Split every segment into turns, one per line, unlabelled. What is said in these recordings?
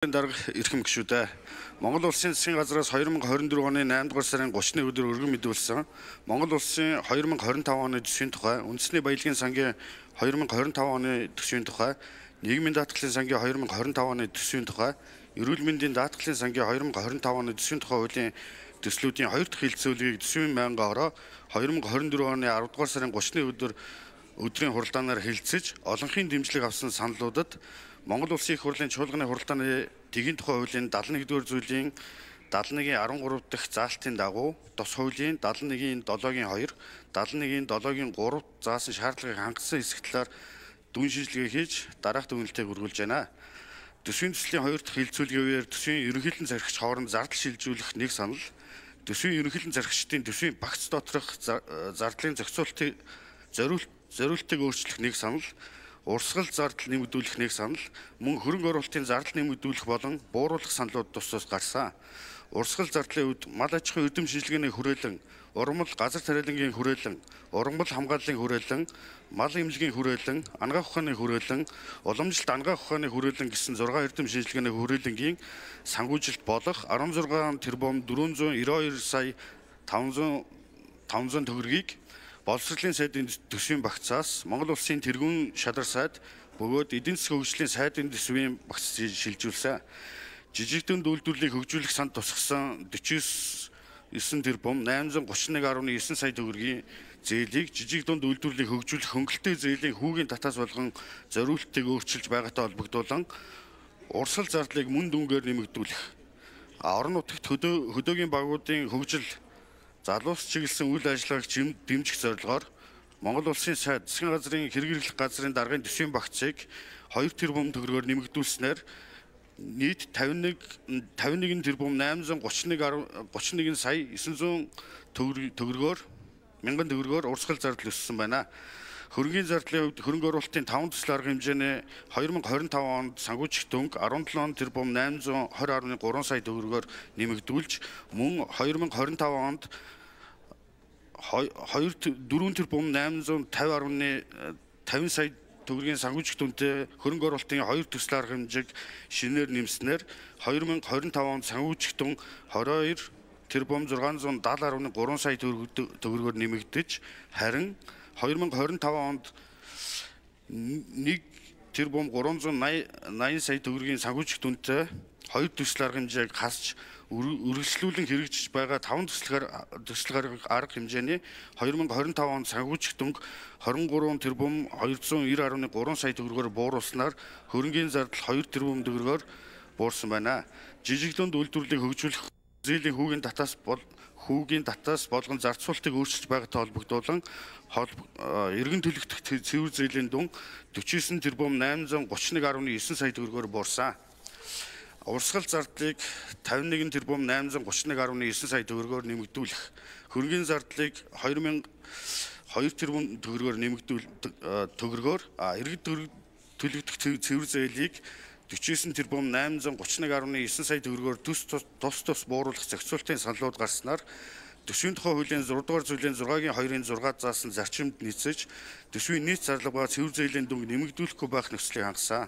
Дарга эрхэм гишүүдээ Монгол улсын засгийн газраас 2024 оны 8 дугаар сарын 30-ны өдөр өргөн мэдүүлсэн Монгол улсын 2025 оны төсвийн тухай, үндэсний баялагын сангийн 2025 оны төсвийн тухай, нийгмийн даатгалын сангийн 2025 оны төсвийн тухай, эрүүл мэндийн даатгалын сангийн 2025 оны төсвийн тухай хуулийн төслүүдийн 2 дахь хэлэлцүүлгийг төсвийн байнгаараа 2024 оны 10 дугаар сарын 30-ны өдрийн хуралдаанаар хэлэлцэж, олонхын дэмжлэг авсан саналуудад Монгол Улсын их хурлын чуулганы хуралдааны тэгийн тухай хуулийн 71-р зүйлийн 71-ийн 13 дахь заалтын дагуу тус хуулийн 71-ийн 7-гийн 2, 71-ийн 7-гийн 3 заасан шаардлагыг хангасан хэсэг талаар дүн шинжилгээ хийж дараах дүгнэлтийг үргэлж байна. Төсвийн төслийн 2 дахь хэлэлцүүлгээр төсвийн ерөнхийлөн зархич хооронд зардал шилжүүлэх нэг санал, төсвийн ерөнхийлөн зархичдын төсвийн багц доторх зардлын зохицуултыг зориултыг өөрчлөх нэг санал, урсгал зардал нэмэгдүүлэх нэг санал, мөн хөрөнгө оруулалтын зардал нэмэгдүүлэх болон бууруулах саналууд тус гарсан. Урсгал зардлын үед мал аж ахуйн эрдэм шинжилгээний хүрээлэн, ургамал газар тариалангийн хүрээлэн, ургамал хамгааллын хүрээлэн, мал эмнэлгийн хүрээлэн, ангаах ухааны хүрээлэн, уламжилт ангаах ухааны хүрээлэн гэсэн 6 эрдэм шинжилгээний хүрээлэнгийн санхүүжилт болох 16 тэрбум 492 сая 500 төгрөгийг боловсролын сайдын төсвийн багцаас Монгол Улсын тэргүүн шадар сайд бөгөөд эдийн засгийн хөгжлийн сайдын төсвийн багц шилжүүлсэн. Жижигдэн үйлдвэрлэлийг хөгжүүлэх санд тусгасан 49 тэрбум 831.9 сая төгрөгийн зээлийг жижигдэн үйлдвэрлэлийг хөгжүүлэх хөнгөлтэй зээлийн хүүгийн татаас болгон зориултыг өөрчилж байгаатай холбогдуулан урсгал зардлыг мөн дүнгээр нэмэгдүүлэх, орон нутагт хөдөөгийн багуудын хөгжил залуус чиглэсэн үйл ажиллагааг дэмжих зорилгоор Монгол Улсын сайд засгийн газрын хэрэглэх газрын даргын төсвийн багцыг 2 тэрбум төгрөгөөр нэмэгдүүлснээр нийт 51 тэрбум 831 сая 900 мянган төгрөгөөр урсгал зардал өссөн байна. Хөрөнгөний зардлын хувьд хөрөнгө оруулалтын 5 төсөл арга хэмжээний 2025 онд санхүүжих дүнг 17 тэрбум 820.3 сая төгрөгөөр нэмэгдүүлж, мөн 2025 онд 4 тэрбум 850.50 сая төгрөгийн санхүүжих дүнтэй хөрөнгө оруулалтын 2 төсөл арга хэмжээг шинээр нэмснээр 2025 онд санхүүжих дүн 22 тэрбум 670.3 сая төгрөгөөр нэмэгдэж, харин 2025 онд 1 тэрбум 380 сая төгрөгийн санхүүжих дүнтэй 2 төсөл арга хэмжээг хасч үргэлжлүүлэн хэрэгжиж байгаа 5 төсөл арга хэмжээний 2025 онд санхүүжих дүнг 23 тэрбум 290.3 сая төгрөгөөр бууруулснаар хөрөнгөний зардал 2 тэрбум төгрөгөөр буурсан байна. Жижиглэнд үйлдвэрлэлийг хөгжүүлэх зээлийн хүүгийн татаас болгон зарцуултыг өөрчилж байгаатай холбогдуулан эргэн төлөгдөх цэвэр зээлийн дүн 49 тэрбум 831.9 сая төгрөгөөр буурсан. Урсгал зардлыг 51 тэрбум 831.9 сая төгрөгөөр нэмэгдүүлэх, хөрөнгөний зардлыг 2 тэрбум төгрөгөөр эргэн төлөгдөх цэвэр зээлийг 49 тэрбум 831.9 сая төгрөгөөр тус бууруулах зохицуултын саналууд гарснаар төсвийн тухай хуулийн 6 дугаар зүйлийн 6-гийн 2-ын 6 заасан зарчимд нийцэж төсвийн нийт зарлага ба цэвэр зээлийн дүнг нэмэгдүүлэхгүй байх нөхцөлийг хангасан.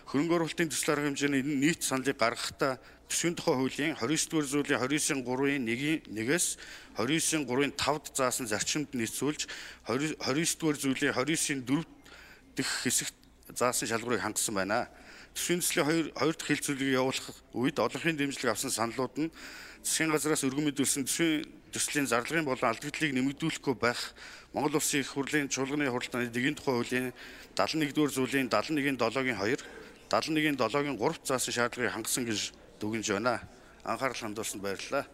Хөрөнгө оруулалтын төсөл арга хэмжээний нийт саналыг гаргахдаа төсвийн тухай хуулийн 29 дугаар зүйлийн 29.3-ийн 1-ээс 29.3-ийн 5-д заасан зарчимд нийцүүлж 29 дугаар зүйлийн 29.4 дэх хэсэгт заасан шалгуурыг хангасан байна. Төсвийн төслийн 2 дахь хэлэлцүүлгийг явуулах үед олонхын дэмжлэг авсан саналууд нь засгийн газраас өргөн мэдүүлсэн төслийн зарлагын болон алдагдлыг нэмэгдүүлэхгүй байх Монгол Улсын их хурлын чуулганы хуралдааны тэгийн тухай хуулийн 71-р зүйлийн 71-ийн 7-гийн 2, 71-ийн 7-гийн 3 заасан шаардлагыг хангасан гэж дүгнэж байна. Анхаарал хандуулсанд баярлалаа.